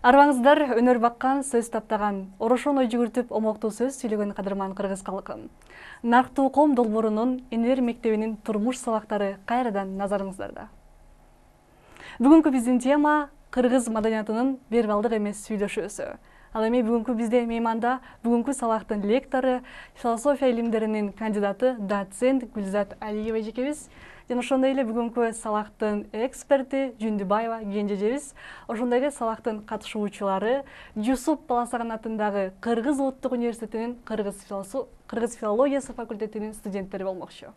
Арбаңыздар өнөр баккан, сөз таптаган, орошон ой жүгүртүп омоктуу сөз сүйлөгөн кадырман кыргыз калкы. Нарктуу ком долбоорунун энелер мектебинин турмуш сабактары кайрадан назарыңыздарда. Бүгүнкү биздин тема кыргыз маданиятынын вербалдык эмес сүйлөшүүсү. Ал эми бүгүнкү бизде мейманда бүгүнкү сабактын лектору, философия илимдеринин кандидаты, доцент Гүлзат Алиева эжекебиз. Жана ошондой эле бүгүнкү сабактын эксперти Жүндүбаева Кенжежебиз. Ошондой эле сабактын катышуучулары Жусуп Баласаган атындагы Кыргыз Улуттук университетинин кыргыз филологиясы факультетинин студенттери болмокчу.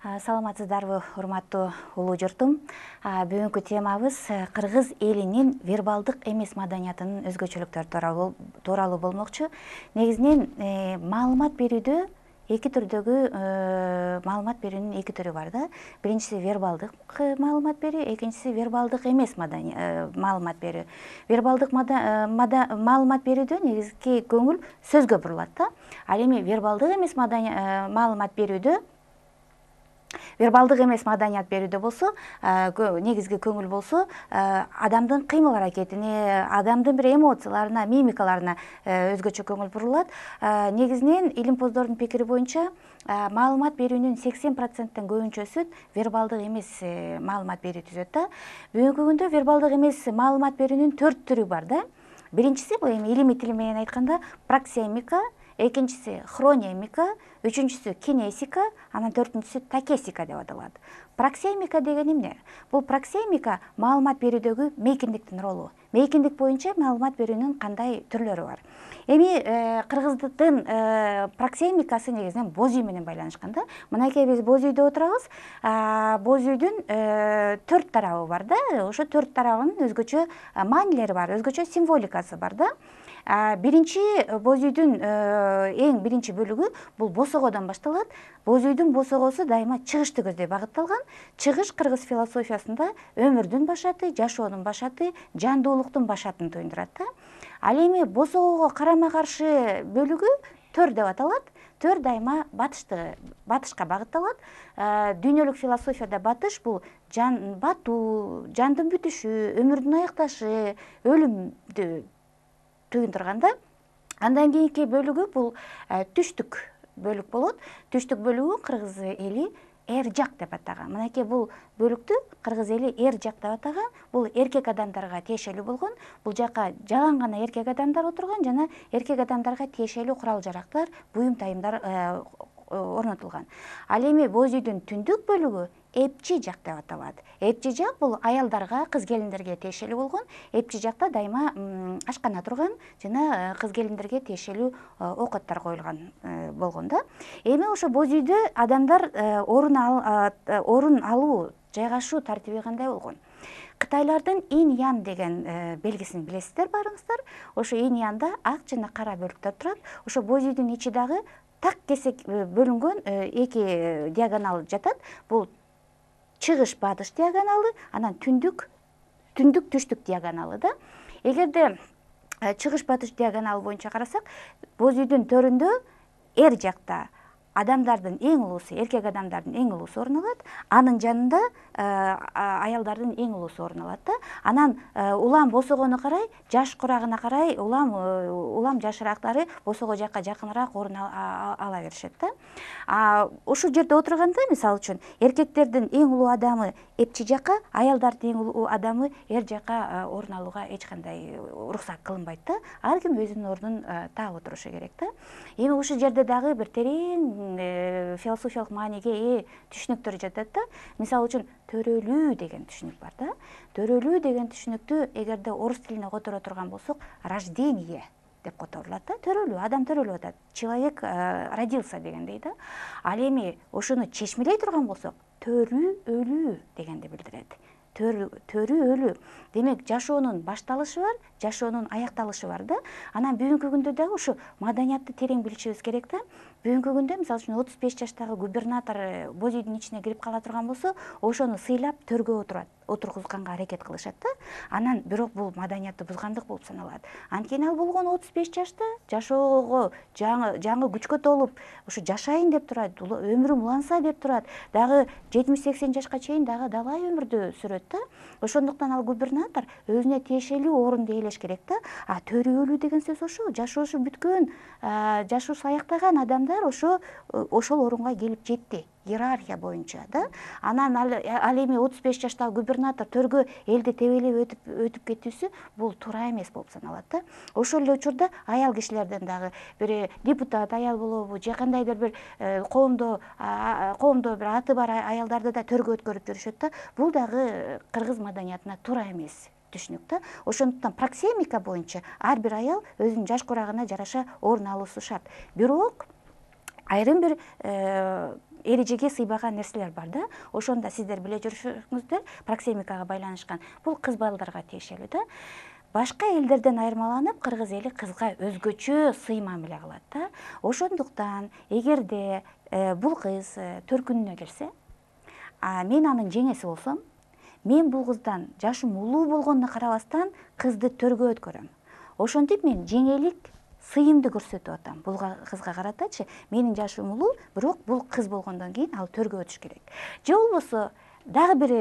Саламатсыздарбы, урматтуу улуу журтум. Бүгүнкү темабыз кыргыз элинин вербалдык эмес маданиятынын өзгөчөлүктөрү тууралуу болмокчу. Негизинен маалымат берүүдө эки түрдөгү маалымат берүүнүн эки түрү бар да. Биринчиси вербалдык маалымат берүү, экинчиси вербалдык эмес маалымат берүү. Вербалдык маалымат берүүдө негизги көңүл сөзгө бурулат да. Ал эми вербалдык эмес маалымат берүүдө вербалдык эмес маданият берүүдө болсо, негизги көңүл болсо, адамдын кыймыл аракетине, адамдын бир эмоцияларына, мимикаларына өзгөчө көңүл бурулат. Негизинен илимпоздордун пикири боюнча, маалымат берүүнүн 80%тен көбүнчөсү вербалдык эмес маалымат берүү түзөт да. Бүгүнкү күндө вербалдык эмес маалымат берүүнүн 4 түрү бар да. Биринчиси, бул эми илимий тил менен айтканда, проксемика, экинчиси хронемика, үчүнчүсү кинесика, анан төртүнчүсү такесика деп аталат. Проксемика деген эмне? Бул проксемика маалымат берүүдөгү мейкиндиктин ролу. Мейкиндик боюнча маалымат берүүнүн кандай түрлөрү бар? Эми кыргыздын проксемикасы негизинен боз үй менен байланышкан да. Мынакей биз боз үйдө отурабыз. Боз үйдүн 4 тарабы бар да. Ошо 4 тарабынын өзгөчө маанилери бар, өзгөчө символикасы бар да. Биринчи боз үйдүн эң биринчи бөлүгү бул босогодон башталат. Боз үйдүн босогосу дайыма чыгышты көздөй багытталган. Чыгыш кыргыз философиясында өмүрдүн башаты, жашоонун башаты, жандуулуктун башатын туюндурат да. Ал эми босогого карама-каршы бөлүгү төр деп аталат. Төр дайыма батышка багытталат. Дүйнөлүк философияда батыш бул батуу, жандын бүтүшү, өмүрдүн аякташы, өлүмдү туюндурганда. Андан кийинки бөлүгү бул түштүк бөлүк болот. Түштүк бөлүгү кыргыз эли эр жак деп атаган. Мынакей бул бөлүктү кыргыз эли эр жак деп атаган. Бул эркек адамдарга тиешелүү болгон. Бул жака жалаң гана эркек адамдар отурган жана эркек адамдарга тиешелүү курал-жарактар, буюм тайымдар орнотулган. Ал эми боз үйдүн түндүк бөлүгү эпчи жак деп аталат. Эпчи жак бул аялдарга, кыз-келиндерге тиешелүү болгон. Эпчи жакта дайыма ашкана турган жана кыз-келиндерге тиешелүү оокаттар коюлган болгон да. Эми ошо боз үйдө адамдар орун алуу, жайгашуу тартиби кандай болгон? Кытайлардын инь-ян деген белгисин билесиздер баарыңыздар. Ошо инь-янда ак жана кара бөлүктөр турат. Ошо боз үйдүн ичи дагы так кесек бөлүнгөн эки диагонал жатат. Бул чыгыш батыш диагоналы, анан түндүк түштүк диагоналы да. Эгерде чыгыш батыш диагоналы боюнча карасак, боз үйдүн төрүндө эр жакта адамдардын эң улуусу, эркек адамдардын эң улуусу орун алат. Анын жанында аялдардын эң улуусу орун алат да. Анан улам босогону карай, жаш курагына карай улам жашыраактары босого жакка жакыныраак орун ала беришет да. Ушул жерде отурганда, мисалы үчүн, эркектердин эң улуу адамы эпчи жакка, аялдардын эң улуу адамы эр жакка орун алууга эч кандай уруксат кылынбайт да. Ар ким өзүнүн ордун таап отурушу керек да. Эми ушул жерде дагы бир терең философиялык мааниге ээ түшүнүктөр жатат да. Мисалы үчүн, төрөлүү деген түшүнүк бар да. Төрөлүү деген түшүнүктү эгерде орус тилине которо турган болсок, рождение деп которулат да. Төрөлүү, адам төрөлүп атат. Человек родился дегендей да. Ал эми ошону чечмелей турган болсок, төрүү өлүү дегенди билдирет. Төрүү өлүү. Демек, жашоонун башталышы бар, жашоонун аякталышы бар да. Анан бүгүнкү күндө дагы ушу маданиятты терең билишибиз керек да. Бүгүнкү күндө, мисалы үчүн, 35 жаштагы губернатор боз үйдүн ичине кирип кала турган болсо, ошону сыйлап төргө отургузганга аракет кылышат да. Анан бирок бул маданиятты бузгандык болуп саналат. Анткени ал болгону 35 жашта жашоого жаңы күчкө толуп ушу жашайын деп турат, өмүрүм уланса деп турат. Дагы 70-80 жашка чейин дагы далай өмүрдү сүрөт да. Ошондуктан ал губернатор өзүнө тиешелүү орунду ээлеш керек да. Төрүөлүү деген сөз ошол, жашоосу бүткөн, жашоосу аяктаган адамдар ошол орунга келип жетти. Иерархия боюнча да. Анан ал эми 35 жаштагы губернатор төргө элди тебелеп өтүп кетүүсү бул туура эмес болуп саналат да. Ошол эле учурда аял кишилерден дагы бир депутат аял болобу, же кандайдыр бир коомдо бир аты бар аялдарды да төргө өткөрүп жүрүшөт да. Бул дагы кыргыз маданиятына туура эмес түшүнүк да. Ошондуктан проксемика боюнча ар бир аял өзүнүн жаш курагына жараша орун алуусу шарт. Бирок айрым бир эрежеге сыйбаган нерселер бар да. Ошондо сиздер биле жүрүшүңүздөр, проксемикага байланышкан. Бул кыз балдарга тиешелүү да. Башка элдерден айырмаланып, кыргыз эли кызга өзгөчө сый мамиле кылат да. Ошондуктан эгерде бул кыз төркүнүнө келсе, мен анын жеңеси болсом, мен бул кыздан жашым улуу болгонуна карабастан кызды төргө өткөрөм. Ошентип мен жеңелик сыйымды көрсөтүп атам бул кызга каратачы. Менин жашым улуу, бирок бул кыз болгондон кийин ал төргө өтүш керек. Же болбосо дагы бир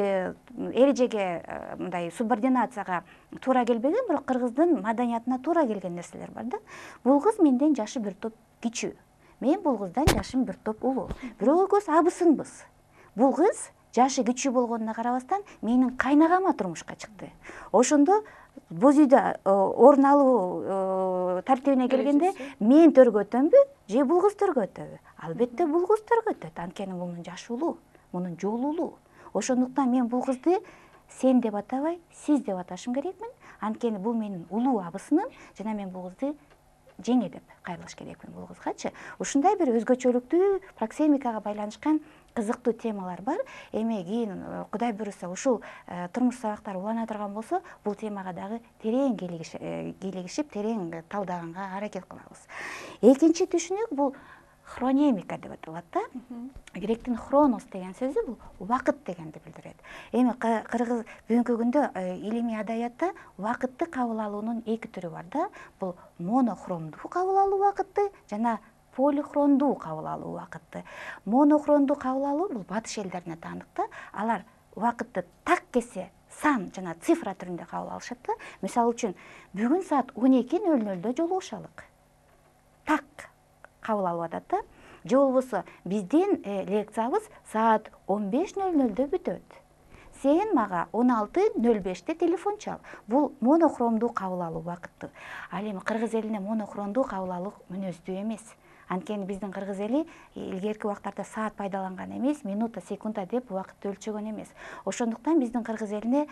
эрежеге, мындай субординацияга туура келбеген, бирок кыргыздын маданиятына туура келген нерселер бар да. Бул кыз менден жашы бир топ кичүү. Мен бул кыздан жашым бир топ улуу. Бирок экөөбүз абысынбыз. Бул кыз жашы кичүү болгонуна карабастан менин кайнагама турмушка чыкты. Ошондо боз үйдө орун алуу тартибине келгенде мен төргө өтөмбү же бул кыз төргө өтөбү? Албетте бул кыз төргө өтөт. Анткени мунун жашы улуу, мунун жолу улуу. Ошондуктан мен бул кызды сен деп атабай, сиз деп аташым керекмин. Анткени бул менин улуу абысыным жана мен бул кызды жеңе деп кайрылыш керекмин бул кызгачы. Ушундай бир өзгөчөлүктүү проксемикага байланышкан кызыктуу темалар бар. Эми кийин Кудай буйруса ушул турмуш сабактары улана турган болсо, бул темага дагы терең кийлигишип, терең талдаганга аракет кылабыз. Экинчи түшүнүк бул хронемика деп аталат да. Гректин хронос деген сөзү бул убакыт дегенди билдирет. Эми кыргыз бүгүнкү күндө илимий адаятта убакытты кабыл алуунун эки түрү бар да. Бул монохромдуу кабыл алуу убакытты жана полихрондуу кабыл алуу убакытты. Монохрондуу кабыл алуу бул батыш элдерине таанык да. Алар убакытты так кесе сан жана цифра түрүндө кабыл алышат да. Мисалы үчүн бүгүн саат 12:00 жолугушалык. Так кабыл алып атат да. Же болбосо биздин лекциябыз саат 15:00 бүтөт. Сен мага 16:05 телефон чал. Бул монохромдуу кабыл алуу убакыты. Ал эми кыргыз элине монохромдуу кабыл алуу мүнөздүү эмес. Анткени биздин кыргыз эли илгерки убактарда саат пайдаланган эмес, минута, секунда деп убакытты өлчөгөн эмес. Ошондуктан биздин кыргыз элине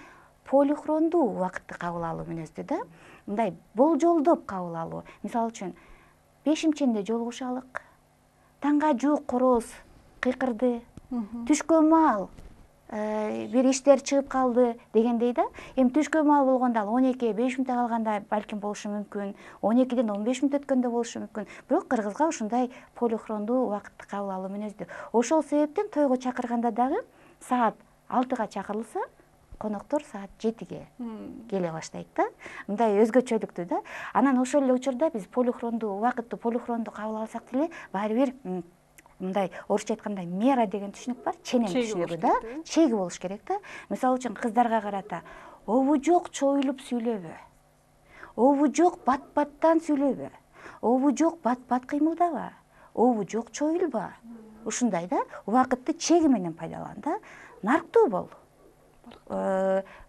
полихрондуу убакытты кабыл алуу мүнөздүү да. Мындай болжолдоп кабыл алуу. Мисалы үчүн 5-ченде жолугушалык. Таңга жуук короз кыйкырды. Түшкө маал бир иштер чыгып калды дегендей да. Эми түшкө маал болгондо ал 12:05 калганда балким болушу мүмкүн, 12-ден 15 мүнөт өткөндө болушу мүмкүн. Бирок кыргызга ушундай полихрондуу убакытты кабыл алуу мүнөздүү. Ошол себептен тойго чакырганда дагы саат 6-га чакырылса, коноктор саат 7-ге келе баштайт да. Мындай өзгөчөлүктүү да. Анан ошол эле учурда биз полихрондуу убакытты полихрондуу кабыл алсак деле баары бир мындай орусча айтканда мера деген түшүнүк бар, ченем түшүнүгү да, чеги болуш керек да. Мисалы үчүн кыздарга карата обу жок чоюлуп сүйлөбө. Обу жок бат-баттан сүйлөбө. Обу жок бат-бат кыймылдаба. Обу жок чоюлба. Ушундай да, убакытты чеги менен пайдалан да. Нарктуу бол.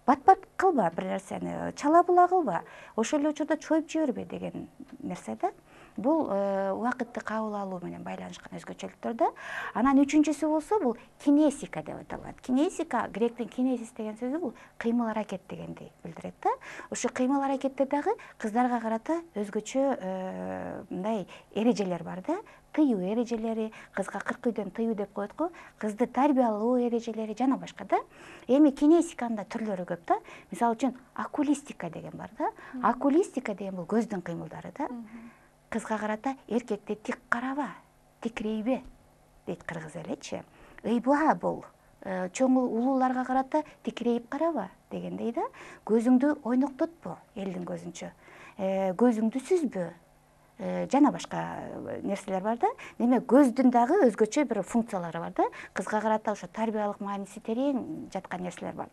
Бат-бат кылба бир нерсени, чала була кылба. Ошол эле учурда чоюп жибербе деген нерсе да. Бул убакытты кабыл алуу менен байланышкан өзгөчөлүктөр да. Анан үчүнчүсү болсо бул кинесика деп аталат. Кинесика, гректин кинезис деген сөзү бул кыймыл аракет дегенди билдирет да. Ошо кыймыл аракетте дагы кыздарга карата өзгөчө мындай эрежелер бар да. Тыюу эрежелери, кызга 40 үйдөн тыюу деп коет го, кызды тарбиялоо эрежелери жана башка да. Эми кинесиканын да түрлөрү көп да. Мисалы үчүн окулистика деген бар да. Окулистика деген бул көздүн кыймылдары да. Кызга карата эркекти тик караба, тикирейбе дейт кыргыз эличи. Ыйба бол, чоң улууларга карата тикирейип караба дегендей да. Көзүңдү ойноктотпо элдин көзүнчө, көзүңдү сүзбө, жана башка нерселер бар да. Демек көздүн дагы өзгөчө бир функциялары бар да. Кызга карата ошо тарбиялык мааниси терең жаткан нерселер бар.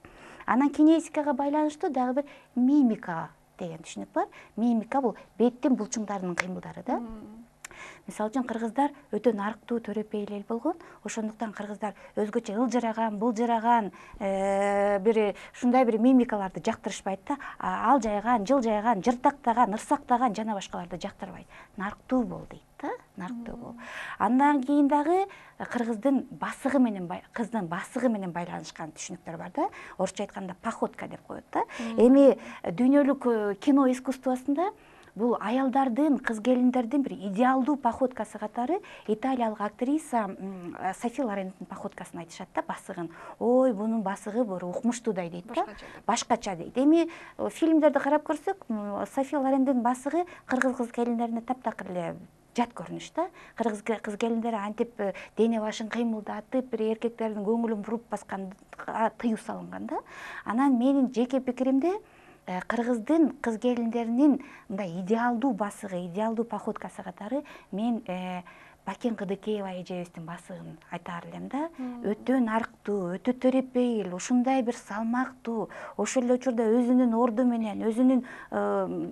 Анан кинесикага байланыштуу дагы бир мимика деген түшүнүк бар. Мимика бул беттин булчуңдарынын кыймылдары да. Мисалы үчүн кыргыздар өтө нарыктуу, төрөпей эл болгон. Ошондуктан кыргыздар өзгөчө ылжыраган, былжыраган, бир ушундай бир мимикаларды жактырышпайт да. Алжайган, жылжайган, жыртактаган, ырсактаган жана башкаларды жактырбайт. Нарыктуу бол дейт да, нарыктуу бол. Андан кийин дагы кыргыздын басыгы менен, кыздын басыгы менен байланышкан түшүнүктөр бар да. Орусча айтканда походка деп коет да. Эми дүйнөлүк кино искусствосунда бул аялдардын, кыз келиндердин бир идеалдуу походкасы катары италиялык актриса Софи Лоренттин походкасын айтышат да, басыгын. Ой, бунун басыгы бир укмуштуудай дейт да. Башкача дейт. Эми фильмдерди карап көрсөк, Софи Лоренттин басыгы кыргыз кыз келиндерине таптакыр эле жат көрүнүш да. Кыргыз кыз келиндери антип дене башын кыймылдатып, бир эркектердин көңүлүн буруп басканга тыюу салынган да. Анан менин жеке пикиримде кыргыздын кыз келиндеринин мындай идеалдуу басыгы, идеалдуу походкасы катары мен Бакен Кыдыкеева эжебиздин басыгын айтаар элем да. Өтө нарыктуу, өтө төрөпейил, ушундай бир салмактуу, ошол эле учурда өзүнүн орду менен, өзүнүн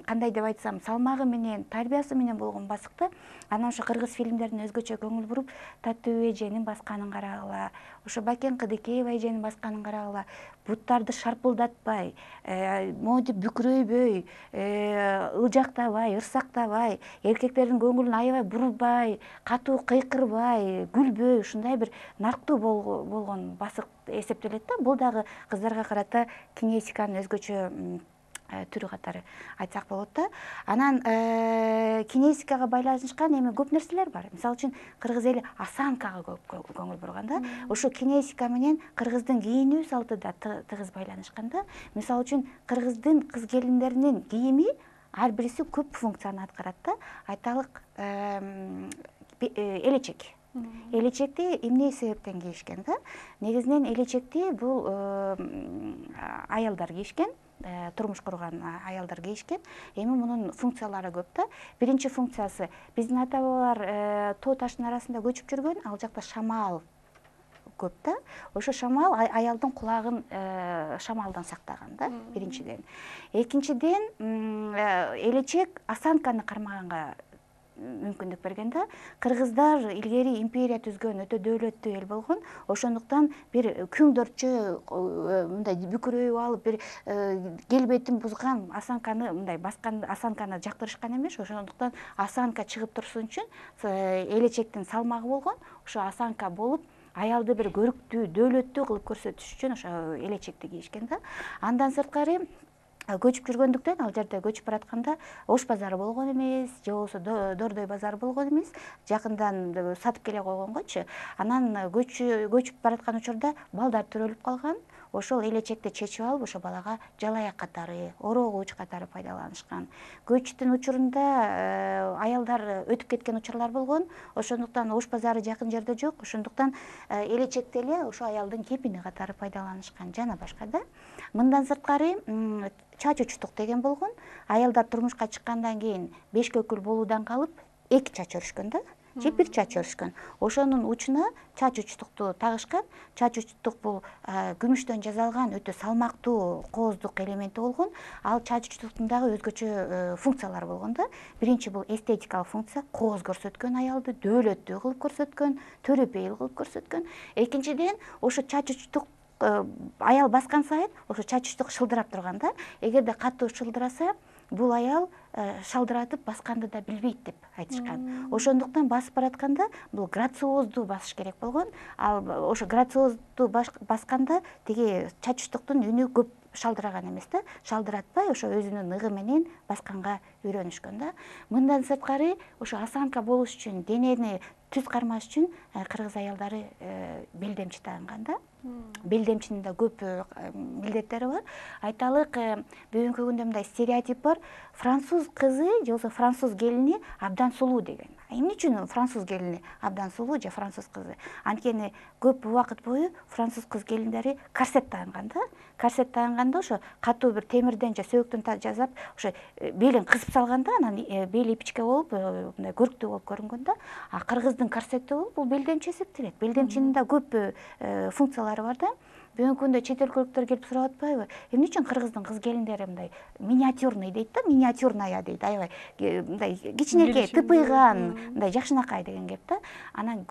кандай деп айтсам, салмагы менен, тарбиясы менен болгон басыкта. Анан ошо кыргыз фильмдерине өзгөчө көңүл буруп, Татуу эженин басканын карагыла, ошо Бакен Кыдыкеева эженин басканын карагыла, буттарды шарпылдатпай, монтип бүкүрөйбөй, ылжактабай, ырсактабай, эркектердин көңүлүн аябай бурбай, катуу кыйкырбай, күлбөй, ушундай бир нарыктуу болгон басык эсептелет да. Бул дагы кыздарга карата кинесиканын өзгөчө түрү катары айтсак болот да. Анан кинесикага байланышкан эми көп нерселер бар. Мисалы үчүн кыргыз эли осанкага көп көңүл бурган да. Ошо кинесика менен кыргыздын кийинүү салты да тыгыз байланышкан да. Мисалы үчүн кыргыздын кыз келиндеринин кийими ар бириси көп функцияны аткарат да. Айталык, элечек. Элечекти эмне себептен кийишкен да? Негизинен элечекти бул аялдар кийишкен, турмуш курган аялдар кийишкен. Эми мунун функциялары көп да. Биринчи функциясы, биздин ата бабалар тоо таштын арасында көчүп жүргөн, ал жакта шамал көп да. Ошо шамал аялдын кулагын шамалдан сактаган да, биринчиден. Экинчиден, элечек осанканы кармаганга мүмкүндүк берген да. Кыргыздар илгери империя түзгөн, өтө дөөлөттүү эл болгон. Ошондуктан бир күңдөрчө мындай бүкүрөйүп алып, бир келбетин бузган осанканы мындай баскан осанканы жактырышкан эмес. Ошондуктан осанка чыгып турсун үчүн элечектин салмагы болгон. Ошо осанка болуп, аялды бир көрүктүү, дөөлөттүү кылып көрсөтүш үчүн ошо элечекти кийишкен да. Андан сырткары көчүп жүргөндүктөн, ал жерде көчүп баратканда ош базары болгон эмес, же болбосо дордой базары болгон эмес, жакындан сатып келе койгонгочу. Анан көчүп бараткан учурда балдар төрөлүп калган. Ошол элечекти чечип алып, ошо балага жалаяк катары, орогууч катары пайдаланышкан. Көчтүн учурунда аялдар өтүп кеткен учурлар болгон. Ошондуктан ош базары жакын жерде жок. Ошондуктан элечекти эле ошо аялдын кепини катары пайдаланышкан, жана башка да. Мындан сырткары чач учтук деген болгон. Аялдар турмушка чыккандан кийин бешкөкүл болуудан калып, эки чач өрүшкөн да, же бир чач өрүшкөн. Ошонун учуна чач учтукту тагышкан. Чач учтук бул күмүштөн жасалган өтө салмактуу кооздук элементи болгон. Ал чач учтуктун дагы өзгөчө функциялары болгон да. Биринчи бул эстетикалык функция, кооз көрсөткөн аялды, дөөлөттүү кылып көрсөткөн, төрөпейил кылып көрсөткөн. Экинчиден, ошо чач учтук аял баскан сайын ошо чач учтук шылдырап турган да. Эгерде катуу шылдыраса, бул аял шалдыратып басканды да билбейт деп айтышкан. Ошондуктан басып баратканда бул грациоздуу басыш керек болгон. Ал ошо грациоздуу басканда тиги чач учтуктун үнү көп шалдыраган эмес да. Шалдыратпай, ошо өзүнүн ыгы менен басканга үйрөнүшкөн да. Мындан сырткары, ошо осанка болуш үчүн, денени түз кармаш үчүн кыргыз аялдары белдемчи тагынган да. Белдемчинин да көп милдеттери бар. Айталык, бүгүнкү күндө мындай стереотип бар. Француз кызы же болбосо француз келини абдан сулуу деген. эмне үчүн француз келини абдан сулуу же француз кызы? Анткени көп убакыт бою француз кыз келиндери корсет тагынган да. Корсет тагынганда ошо катуу бир темирден же сөөктөн жасап, ошо белин кысып салганда, анан бели ипичке болуп, мындай көрктүү болуп көрүнгөн да. А кыргыздын корсети болуп, бул белдемчи эсептелет. Белдемчинин да көп функциялары бар да. Бүгүнкү күндө чет өлкөлүктөр келип сурап атпайбы? Эмне үчүн кыргыздын кыз келиндери мындай миниатюрный дейт да, миниатюрная дейт, аябай мындай кичинекей, тыпыйган, мындай жакшынакай деген кеп да. Анан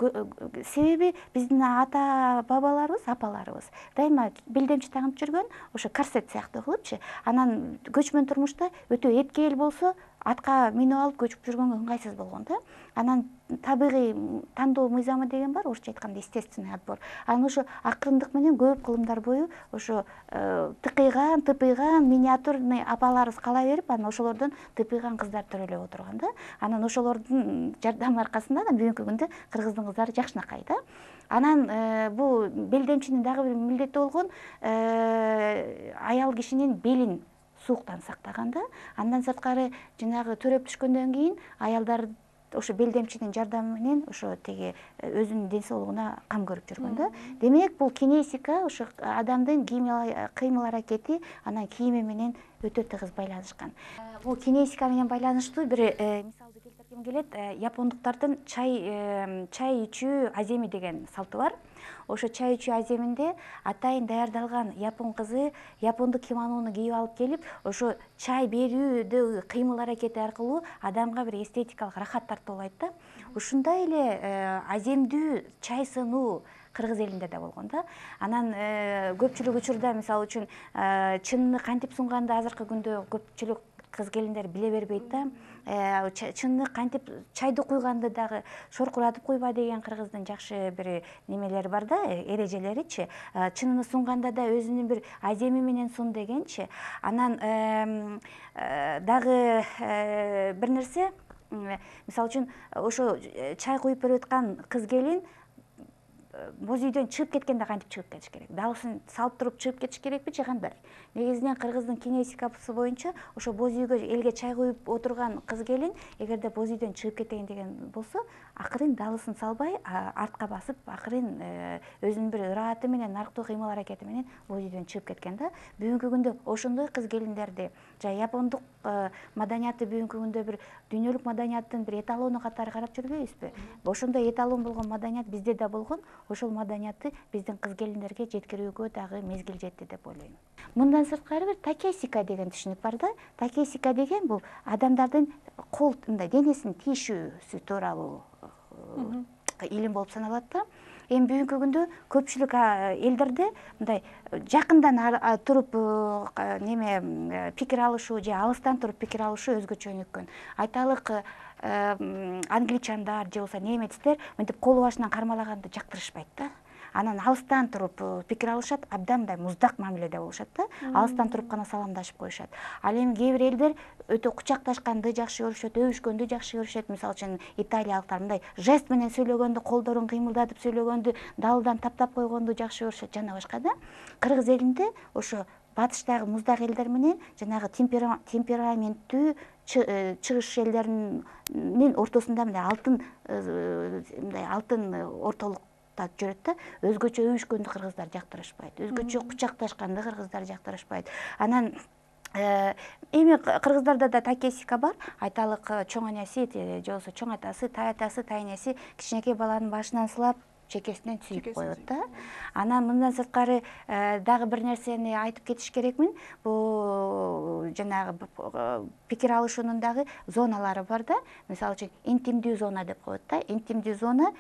себеби биздин ата бабаларыбыз, апаларыбыз дайыма белдемчи тагып жүргөн, ошо корсет сыяктуу кылыпчы. Анан көчмөн турмушта өтө эткел болсо, атка минип алып көчүп жүргөнгө ыңгайсыз болгон да. Анан табигый тандоо мыйзамы деген бар, орусча айтканда естественный отбор. Анан ошо акырындык менен көп кылымдар бою ошо тыпыйган миниатюрный апаларыбыз кала берип, анан ошолордон тыпыйган кыздар төрөлөп отурган да. Анан ошолордун жардамы аркасында да бүгүнкү күндө кыргыздын кыздары жакшынакай да. Анан бул белдемчинин дагы бир милдети болгон аял кишинин белин сууктан сактаган да. Андан сырткары жанагы төрөп түшкөндөн кийин аялдар ошо белдемчинин жардамы менен ошо теги өзүнүн ден соолугуна кам көрүп жүргөн да. Демек бул кинесика ошо адамдын кыймыл аракети, анан кийими менен өтө тыгыз байланышкан. Бул кинесика менен байланыштуу бир мисалды келтиргим келет. Япондуктардын чай ичүү аземи деген салты бар. Ошо чай ичүү аземинде атайын даярдалган япон кызы япондук кимонону кийип алып келип, ошо чай берүүдө кыймыл аракети аркылуу адамга бир эстетикалык рахат тартып алат да. Ушундай эле аземдүү чай сынуу кыргыз элинде да болгон да. Анан көпчүлүк учурда, мисалы үчүн, чынны кантип сунганда азыркы күндө көпчүлүк кыз келиндер биле бербейт да. Чынны кантип чайды куйганды дагы шоркуратып куйба деген кыргыздын жакшы бир немелери бар да, эрежелеричи. Чынны сунганда да өзүнүн бир аземи менен сун дегенчи. Анан дагы бир нерсе, мисалы үчүн, ошо чай куюп берип аткан кыз келин боз үйдөн чыгып кеткенде кантип чыгып кетиш керек? Далысын салып туруп чыгып кетиш керекпи же кандай? Негизинен кыргыздын кинесикасы боюнча ошо боз үйгө элге чай куюп отурган кыз келин эгерде боз үйдөн чыгып кетейин деген болсо, акырын далысын салбай, артка басып, акырын өзүнүн бир ырахаты менен, нарктуу кыймыл аракети менен боз үйдөн чыгып кеткен да. Бүгүнкү күндө ошондой кыз келиндерди жана япондук маданияты бүгүнкү күндө бир дүйнөлүк маданияттын бир эталону катары карап жүрбөйбүзбү? Ошондой эталон болгон маданият бизде да болгон. Ошол маданиятты биздин кыз келиндерге жеткирүүгө дагы мезгил жетти деп ойлойм. Мындан сырткары бир такесика деген түшүнүк бар да. Такесика деген бул адамдардын кол мындай денесин тийишүүсү тууралуу илим болуп саналат да. Эми бүгүнкү күндө көпчүлүк элдерде мындай жакындан туруп пикир алышуу же алыстан туруп пикир алышуу өзгөчө өнүккөн. Айталык, англичандар же болбосо немецтер мынтип кол башынан кармалаганды жактырышпайт да. Анан алыстан туруп пикир алышат, абдан мындай муздак мамиледе болушат да. Алыстан туруп гана саламдашып коюшат. Ал эми кээ бир элдер өтө кучакташканды жакшы көрүшөт, өбүшкөндү жакшы көрүшөт. Мисалы үчүн италиялыктар мындай жест менен сөйлөгөндү, колдорун кыймылдатып сөйлөгөндү, далдан таптап койгонду жакшы көрүшөт жана башка да. Кыргыз элинде ошо батыштагы муздак элдер менен жанагы темпераменттүү чыгыш элдеринин ортосунда мындай алтын ортолук жүрөт да. Өзгөчө өбүшкөндү кыргыздар жактырышпайт, өзгөчө кучакташканды кыргыздар жактырышпайт. Анан эми кыргыздарда да такесика бар. Айталык, чоң энеси же болбосо чоң атасы, тай атасы, тай энеси кичинекей баланын башынан сылап, чекесинен сүйүп коет да. Анан мындан сырткары дагы бир нерсени айтып кетиш керекмин. Бул жанагы пикир алышуунун дагы зоналары бар да. Мисалы үчүн интимдүү зона деп коет да. Интимдүү зона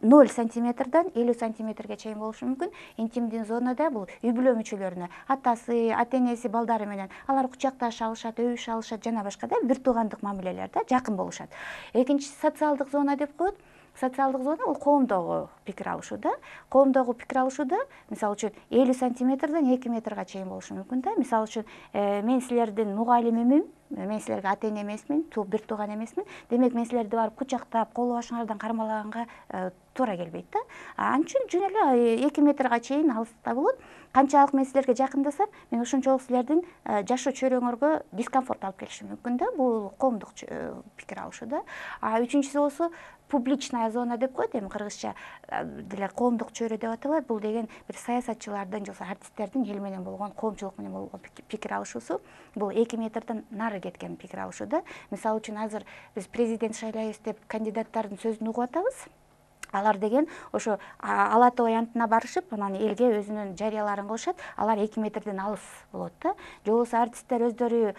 0 сантиметрдан 50 сантиметрге чейин болушу мүмкүн. Интимдүү зонада бул үй бүлө мүчөлөрүнө, атасы, ата-энеси, балдары менен алар кучакташа алышат, өбүшө алышат жана башка да, бир туугандык мамилелер да, жакын болушат. Экинчиси социалдык зона деп коет. Социалдык зона бул коомдогу пикир алышуу да. Коомдогу пикир алышууда, мисалы үчүн, 50 сантиметрдан 2 метрге чейин болушу мүмкүн да. Мисалы үчүн, мен силердин мугалимимин, мен силерге ата эне эмесмин, бир тууган эмесмин, демек мен силерди барып кучактап, кол башыңардан кармалаганга туура келбейт да. Ал үчүн жөн эле 2 метрге чейин алыста болот. Канчалык мен силерге жакындасам, мен ошончолук силердин жашоо чөйрөңөргө дискомфорт алып келишим мүмкүн да. Бул коомдук пикир алышуу да. Үчүнчүсү болсо публичная зона деп коет, эми кыргызча деле коомдук чөйрө деп аталат. Бул деген бир саясатчылардын же артисттердин эл менен болгон, коомчулук менен болгон пикир алышуусу. Бул 2 метрден нары кеткен пикир алышуу да. Мисалы үчүн азыр биз президент шайлайбыз деп кандидаттардын сөзүн угуп атабыз. Алар деген ошо Ала Тоо аянтына барышып, анан элге өзүнүн жарыяларын кылышат. Алар 2 метрден алыс болот да. Же болбосо артисттер өздөрү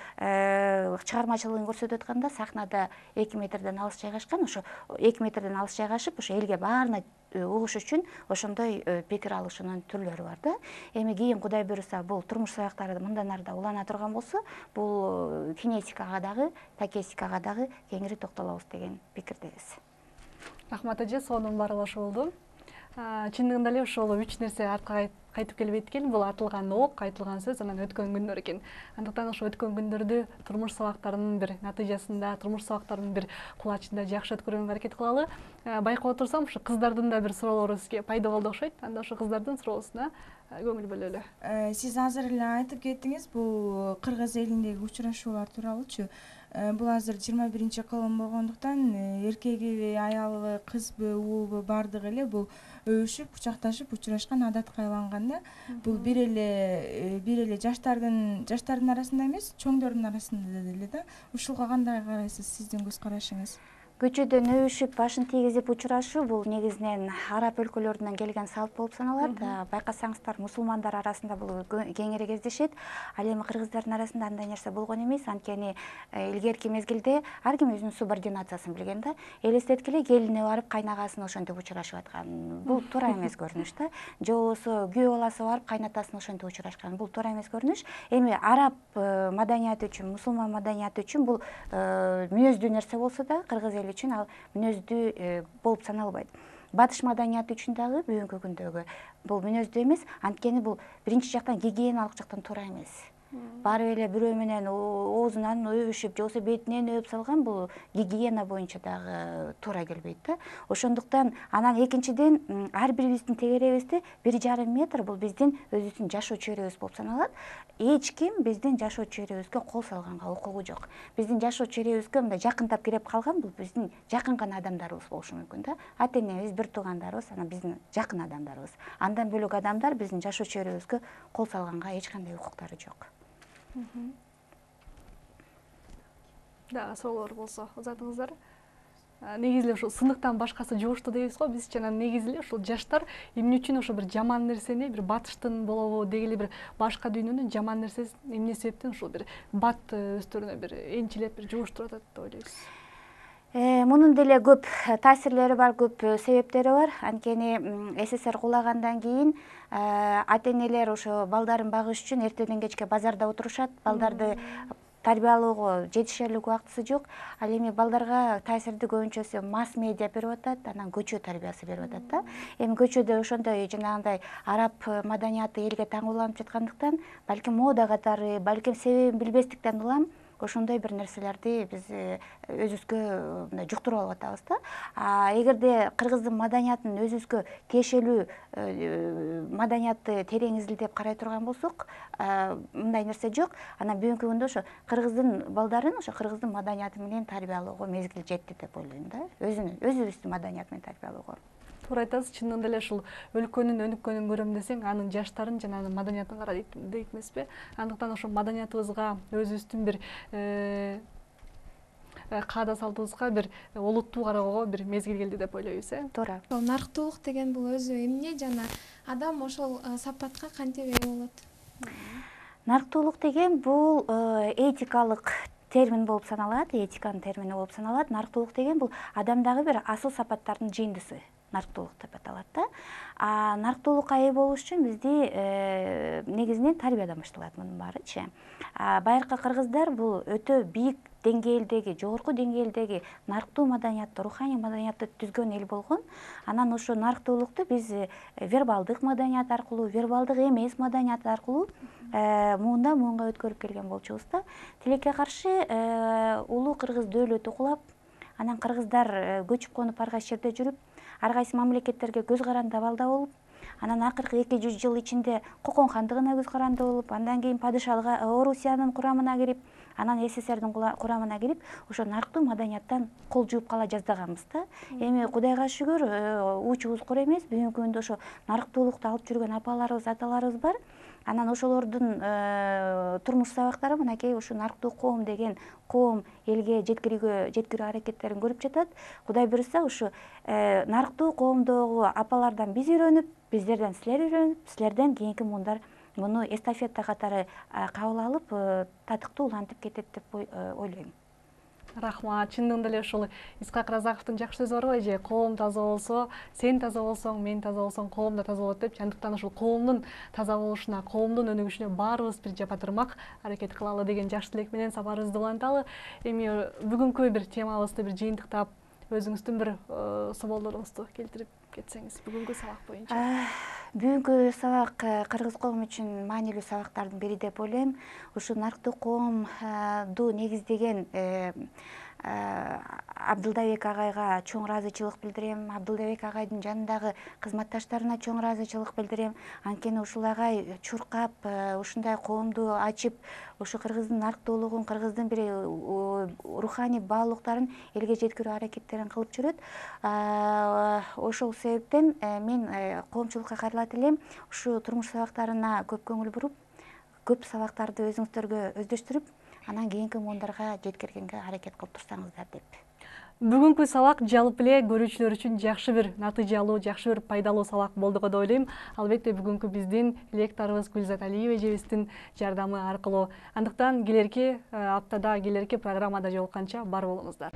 чыгармачылыгын көрсөтүп атканда сахнада 2 метрден алыс жайгашкан, ошо 2 метрден алыс жайгашып, ошо элге баарына угуш үчүн ошондой пикир алышуунун түрлөрү бар да. Эми кийин Кудай буйруса бул турмуш сабактары мындан арда улана турган болсо, бул кинетикага дагы, такетикага дагы кеңири токтолобуз деген пикирдебиз. Рахмат эже, сонун баары ошо болду. Чындыгында эле ошол 3 нерсе артка кайтып келбейт экен. Бул атылган ок, айтылган сөз, анан өткөн күндөр экен. Андыктан ошо өткөн күндөрдү турмуш сабактарынын бир натыйжасында, турмуш сабактарынын бир кулачында жакшы өткөргөнгө аракет кылалы. Байкап отурсам, ошо кыздардын да бир суроолору сизге пайда болду окшойт. Анда ошо кыздардын суроосуна көңүл бөлөлү. Сиз азыр эле айтып кеттиңиз, бул кыргыз элиндеги учурашуулар тууралуучу. Бул азыр 21-кылым болгондуктан эркегиби, аялыбы, кызбы, уулбу бардыгы эле бул өбүшүп, кучакташып учурашкан адатка айланган да. Бул бир эле жаштардын арасында эмес, чоңдордун арасында деле да. Ушуга кандай карайсыз, сиздин көз карашыңыз? Көчөдөн өбүшүп, башын тийгизип учурашуу бул негизинен араб өлкөлөрүнөн келген салт болуп саналат. Байкасаңыздар, мусулмандар арасында бул кеңири кездешет. Ал эми кыргыздардын арасында андай нерсе болгон эмес. Анткени илгерки мезгилде ар ким өзүнүн субординациясын билген да. Элестеткиле келине барып кайнагасын ошентип учурашып аткан. Бул туура эмес көрүнүш да. Же болбосо күйөө баласы барып кайнатасын ошентип учурашкан. Бул туура эмес көрүнүш. Эми араб маданияты үчүн, мусулман маданияты үчүн бул мүнөздүү нерсе болсо да, кыргыз эли үчүн ал мүнөздүү болуп саналбайт. Батыш маданияты үчүн дагы бүгүнкү күндөгү бул мүнөздүү эмес. Анткени бул биринчи жактан гигиеналык жактан туура эмес. Барып эле бирөө менен оозунан өбүшүп, же болбосо бетинен өбүп салган бул гигиена боюнча дагы туура келбейт да. Ошондуктан анан экинчиден ар бирибиздин тегерегибизде 1,5 метр бул биздин өзүбүздүн жашоо чөйрөбүз болуп саналат. Эч ким биздин жашоо чөйрөбүзгө кол салганга укугу жок. Биздин жашоо чөйрөбүзгө мындай жакындап кирип калган бул биздин жакын гана адамдарыбыз болушу мүмкүн да. Ата энебиз, бир туугандарыбыз, анан биздин жакын адамдарыбыз. Андан бөлөк адамдар биздин жашоо чөйрөбүзгө кол салганга эч кандай укуктары жок. Да, суроолор болсо узатыңыздар. Негизи эле ушул сындыктан башкасы жугуштуу дейбиз го. Биз жана негизи эле ушул жаштар эмне үчүн ошо бир жаман нерсени, бир батыштын болобу, дегеле бир башка дүйнөнүн жаман нерсесин эмне себептен ушул бир бат өздөрүнө бир энчилеп бир жугуштуруп атат деп ойлойсуз? Мунун деле көп таасирлери бар, көп себептери бар. Анткени СССР кулагандан кийин ата энелер ошо балдарын багыш үчүн эртеден кечке базарда отурушат, балдарды тарбиялоого жетишерлик убактысы жок. Ал эми балдарга таасирди көбүнчөсү масс медиа берип атат, анан көчө тарбиясы берип атат да. Эми көчөдө ошондой жанагындай араб маданияты элге таң уланып жаткандыктан, балким мода катары, балким себебин билбестиктен улам ошондой бир нерселерди биз өзүбүзгө мындай жуктуруп алып атабыз да. Эгерде кыргыздын маданиятын өзүбүзгө тиешелүү маданиятты терең изилдеп карай турган болсок, мындай нерсе жок. Анан бүгүнкү күндө ошо кыргыздын балдарын ошо кыргыздын маданияты менен тарбиялоого мезгил жетти деп ойлойм да. Өзүбүздүн маданият менен тарбиялоого. Туура айтасыз, чынында эле ушул өлкөнүн өнүккөнүн көрөм десең, анын жаштарын жана анын маданиятын кара дейт эмеспи? Андыктан ошо маданиятыбызга, өзүбүздүн бир каада салтыбызга бир олуттуу кароого бир мезгил келди деп ойлойбуз, Туура. Нарктуулук деген бул өзү эмне жана адам ошол сапатка кантип ээ болот? Нарктуулук деген бул этикалык термин болуп саналат, этиканын термини болуп саналат. Нарктуулук деген бул адамдагы бир асыл сапаттардын жыйындысы. нарктуулук деп аталат да. Нарктуулукка ээ болуш үчүн бизде негизинен тарбиядан башталат мунун баарычы. Байыркы кыргыздар бул өтө бийик деңгээлдеги, жогорку деңгээлдеги нарктуу маданиятты, руханий маданиятты түзгөн эл болгон. Анан ошо нарктуулукту биз вербалдык маданият аркылуу, вербалдык эмес маданият аркылуу муундан муунга өткөрүп келген болчубуз да. Тилекке каршы улуу кыргыз дөөлөтү кулап, анан кыргыздар көчүп конуп ар кайсы жерде жүрүп, ар кайсы мамлекеттерге көз каранды абалда болуп, анан акыркы 200 жыл ичинде Кокон хандыгына көз каранды болуп, андан кийин падышалык Орусиянын курамына кирип, анан СССРдин курамына кирип, ошо нарктуу маданияттан кол жууп кала жаздаганбыз да. Эми Кудайга шүгүр, уучубуз кур эмес, бүгүнкү күндө ошо нарктуулукту алып жүргөн апаларыбыз, аталарыбыз бар. Анан ошолордун турмуш сабактары мынакей ушу нарктуу коом деген коом элге жеткирүү аракеттерин көрүп жатат. Кудай буюрса ушу нарктуу коомдогу апалардан биз үйрөнүп, биздерден силер үйрөнүп, силерден кийинки муундар муну эстафета катары кабыл алып, татыктуу улантып кетет деп ойлойм. Рахмат. Чындыгында эле ушул Исхак Разаковдун жакшы сөзү бар го, эже коом таза болсо, сен таза болсоң, мен таза болсоң, коом да таза болот деп. Андыктан ушул коомдун таза болушуна, коомдун өнүгүшүнө баарыбыз бир жапа турмак аракет кылалы деген жакшы тилек менен сапарыбызды уланталы. Эми бүгүнкү бир темабызды бир жыйынтыктап, өзүңүздүн бир соболдоруңузду келтирип кетсеңиз бүгүнкү сабак боюнча. Бүгүнкү сабак кыргыз коому үчүн маанилүү сабактардын бири деп ойлойм. Ушу нарктуу коомду негиздеген Абдылдабек агайга чоң ыраазычылык билдирем. Абдылдабек агайдын жанындагы кызматташтарына чоң ыраазычылык билдирем. Анткени ушул агай чуркап, ушундай коомду ачып, ушу кыргыздын нарктуулугун, кыргыздын бир руханий баалуулуктарын элге жеткирүү аракеттерин кылып жүрөт. Ошол себептен мен коомчулукка кайрылат элем. Ушу турмуш сабактарына көп көңүл буруп, көп сабактарды өзүңүздөргө өздөштүрүп, анан кийинки муундарга жеткиргенге аракет кылып турсаңыздар деп. Бүгүнкү сабак жалпы эле көрүүчүлөр үчүн жакшы бир натыйжалуу, жакшы бир пайдалуу сабак болду го деп ойлойм. Албетте бүгүнкү биздин лекторубуз Гүлзат Алиева эжебиздин жардамы аркылуу. Андыктан келерки аптада, келерки программада жолукканча бар болуңуздар.